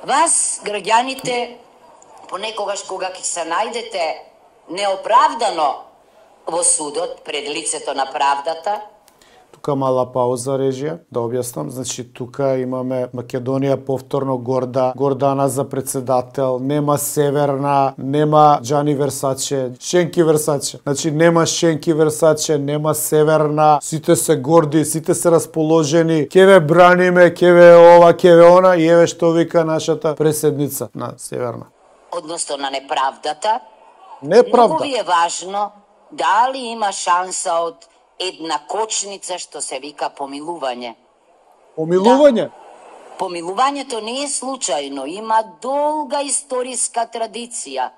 Вас, граѓаните, понекогаш кога ќе се најдете неоправдано во судот пред лицето на правдата. Тука мала пауза, режија, да објаснам. Значи, тука имаме Македонија повторно Гордана за председател, нема Северна, нема Джани Версаче, Шенки Версаче. Значи, нема Шенки Версаче, нема Северна, сите се горди, сите се расположени, ке ве браниме, ке ве ова, ке ве она, и еве што вика нашата преседница на Северна. Односно на неправдата. Неправда. Многу ви е важно дали има шанса од една кочница што се вика помилување. Помилување? Да. Помилувањето не е случајно, има долга историска традиција.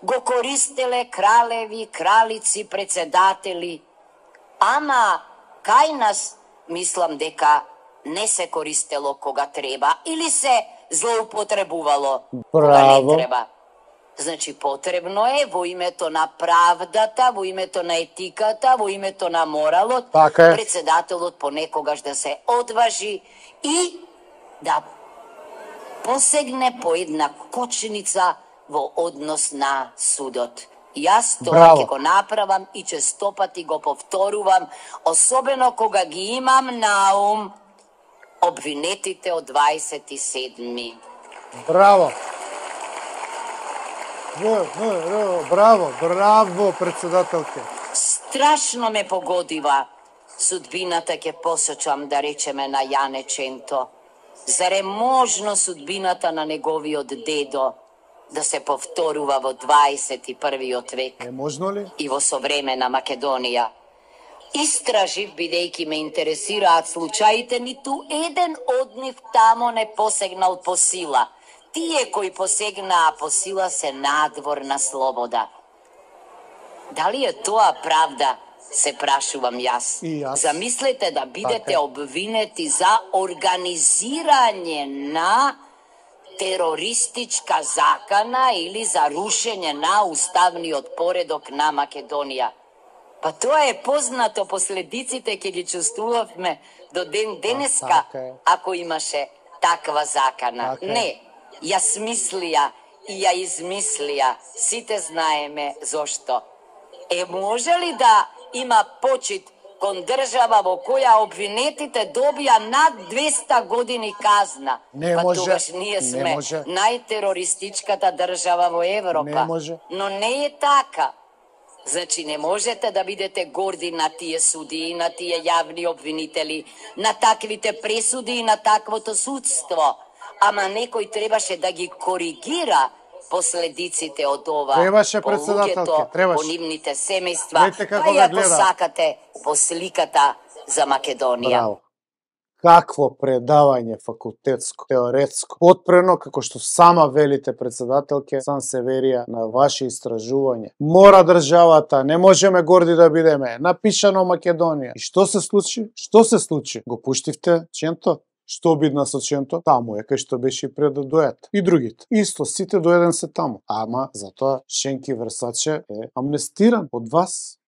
Го користеле кралеви, кралици, председатели. Ама кај нас мислам дека не се користело кога треба или се злоупотребувало кога не треба. Значи, потребно е во името на правдата, во името на етиката, во името на моралот, председателот понекогаш да се одважи и да посегне по една кочница во однос на судот. Јас тоа ќе го направам и честопати го повторувам, особено кога ги имам на ум обвинетите од 27. Браво! Браво, председателке. Страшно ме погодива судбината, ќе посочам да речеме на Јане Ченто. Заре можно судбината на неговиот дедо да се повторува во 21. век? Е можно ли? И во современа Македонија. Истражив, бидејќи ме интересираат случаите, ниту еден од нив тамо не посегнал по сила. Тие кои посегнаа по сила се надвор на слобода. Дали е тоа правда, се прашувам јас. Замислете да бидете обвинети за организирање на терористичка закана или за рушење на уставниот поредок на Македонија. Па тоа е познато, последиците ќе ги чувствувавме до ден денеска, ако имаше таква закана. Не. Ја смислија и ја измислија, сите знаеме зошто. Може ли да има почит кон држава во која обвинетите добија над 200 години казна? Не па може. тогаш ние сме најтерористичката држава во Европа. Не може. Но не е така. Значи, не можете да бидете горди на тие судии, на тие јавни обвинители, на таквите пресуди и на таквото судство. Ама некој требаше да ги коригира последиците од ова по луѓето, по нивните семејства, па и ако сакате по сликата за Македонија. Браво. Какво предавање факултетско, теоретско, отпрено, како што сама велите председателке Сансеверија на ваше истражување. Мора државата, не можеме горди да бидеме, напишано Македонија. И што се случи? Што се случи? Го пуштивте Ченто? Што обидна со Ченто? Таму е кај што беше и пред да дојат. И другите. Исто, сите до еден се таму. Ама, затоа Шенки Версаче е амнестиран од вас.